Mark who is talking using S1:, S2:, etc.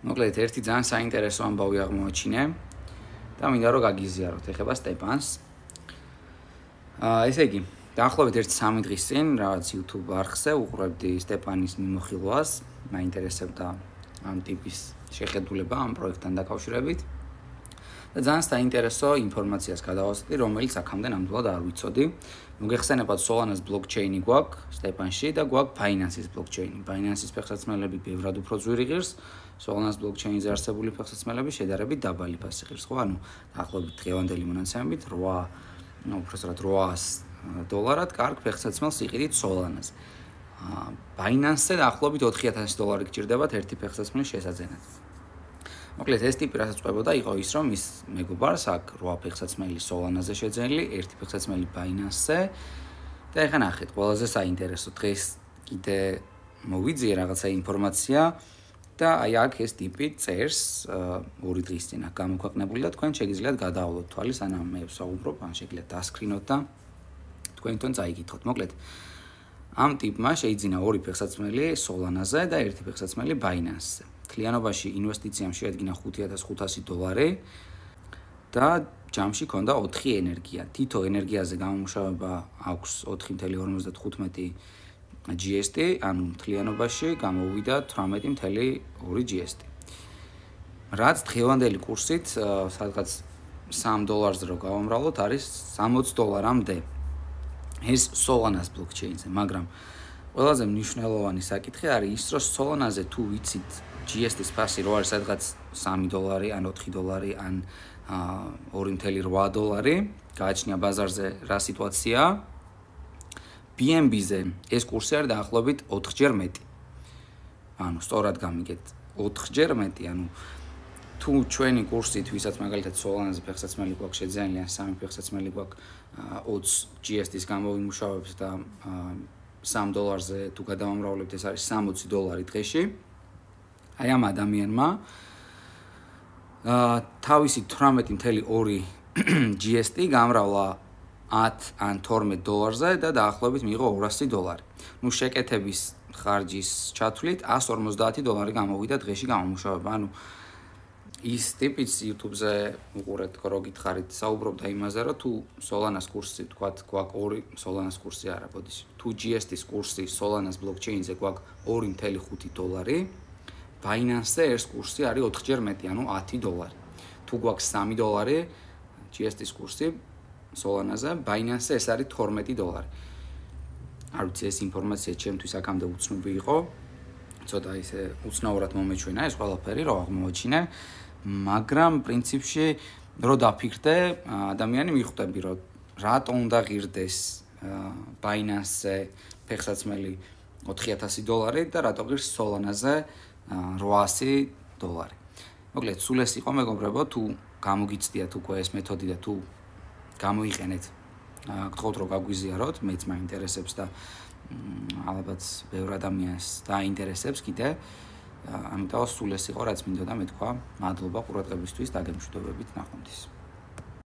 S1: მოკლედ ერთი ძალიან საინტერესო ამბავი აღმოაჩინე და მინდა რომ გაგიზიაროთ. ეხება სტეპანს. ესე იგი, დაახლოებით 1-3 დღის წინ რაღაც YouTube არხზე უყურებდი სტეპანის მიმოხილვას, მაინტერესებდა ამ ტიპის შეხედულება ამ პროექტთან დაკავშირებით. და ძალიან საინტერესო ინფორმაციას გადავასწრდი, რომელიც აქამდე ნამდვილად არ ვიცოდი. მოგეხსენებათ Solana's blockchain-ი გვაქვს სტეპანში და გვაქვს Binance-ის blockchain-ი. Binance-ის ფეხსაცმელები ბევრად უფრო ძვირი ღირს, Solana's blockchain-ზე არსებული ფეხსაცმელები შედარებით დაბალი ფასი ღირს, ხო? ანუ დაახლოებით დღევანდელი მონაცემებით 800 დოლარად კარგ ფეხსაცმელს იყიდით Solana-ზე. Binance-ზე დაახლოებით $4000 გჭირდებათ ერთი ფეხსაცმელის შესაძენად. მოკლედ ეს ტიპი რასაც ყვებოდა იყო ის რომ ის მეგობარს აქ 8 ფეხსაცმელი Solana-ზე შეძენილი, ერთი ფეხსაცმელი Binance-ზე და ეხლა ნახეთ, ყველაზე საინტერესო დღეს კიდე მოვიძიე რაღაცა ინფორმაცია და აი აქ ეს ტიპი წერს 2 დღის წინ აქ გამოქვეყნებული და თქვენ შეგიძლიათ გადაავლოთ თვალის, ანუ მე ვსაუბრობ, ან შეგიძლიათ დასკრინოთ და თქვენ თვითონ წაიკითხოთ. მოკლედ ამ ტიპმა შეიძინა 2 ფეხსაცმელი Solana-ზე და ერთი ფეხსაცმელი Binance-ზე. Კლიანობაში ინვესტიციამ შეადგინა $5,500 და ჯამში ჰქონდა 4 ენერგია. თითო ენერგიაზე გამომუშავება აქვს 4.55 GST, ანუ მთლიანობაში გამოვიდა 18.2 GST. რაც დღევანდელი კურსით, სადღაც $3 რო გავამრავლოთ, არის $60-მდე. ეს Solana-ს blockchain-ზე, მაგრამ ყველაზე მნიშვნელოვანი საკითხი არის ის, რომ Solana-ზე თუ ვიცით GST-ის ფასი რო არის სადღაც $3 ან $4 ან $2.8, გააჩნია ბაზარზე რა სიტუაციაა. BNB-ზე ეს კურსი არის დაახლოებით 4-ჯერ მეტი. ანუ სწორად გამიგეთ, 4-ჯერ მეტი, ანუ თუ ჩვენი კურსით, ვისაც მაგალითად Solana-ზე ფეხსაცმელი გვაქვს შეძენილი, ან 3 ფეხსაცმელი გვაქვს 20 GST-ის გამოვიმუშავებს და $3-ზე თუ გადავამრავლებთ, ეს არის $60 დღეში. აი ამ ადამიანმა თავისი 18.2 GST გამრავლა 10 ან $12-ზე და დაახლოებით მიიღო $200. ნუ შეკეთების ხარჯის ჩათვლით $150 გამოვიდა დღეში გამომუშავება. ანუ ის ტიპიც YouTube-ზე უყურეთ, რო გითხარით, საუბრობდა იმაზე, რომ თუ Solana-ს კურსი, თქვათ, გვაქვს 2 Solana-ს კურსი არა, ბოდიში. თუ GST-ის კურსი Solana-ს blockchain-ზე გვაქვს $2.5, Binance-ზე ეს კურსი არის 4-ჯერ მეტი, ანუ $10. თუ გვაქვს $3 GST-ის კურსი Solana-ზე, Binance-ზე ეს არის $12. არ ვიცი, ეს ინფორმაცია ჩემთვის აქამდე უცნობი იყო. ცოტა ისე უცნაურად მომეჩვენა ეს ყველაფერი, რო აღმოაჩინე, მაგრამ პრინციპში რო დაფიქრდე, ადამიანი მიხვდები, რომ რატო უნდა ღირდეს Binance-ზე ფეხსაცმელი $4000 და რატო ღირს Solana-ზე $800. მოკლედ, სულ ეს იყო მეგობრებო, თუ გამოგიცდიათ უკვე ეს მეთოდი და თუ გამოიყენეთ, გთხოვთ რომ გაგვიზიაროთ, მეც მაინტერესებს და ალბათ ბევრ ადამიანს დაინტერესებს კიდე. ამიტომ სულ ეს იყო, რაც მინდოდა მეთქვა. მადლობა ყურადღებისთვის, დაგემშვიდობებით, ნახვამდის.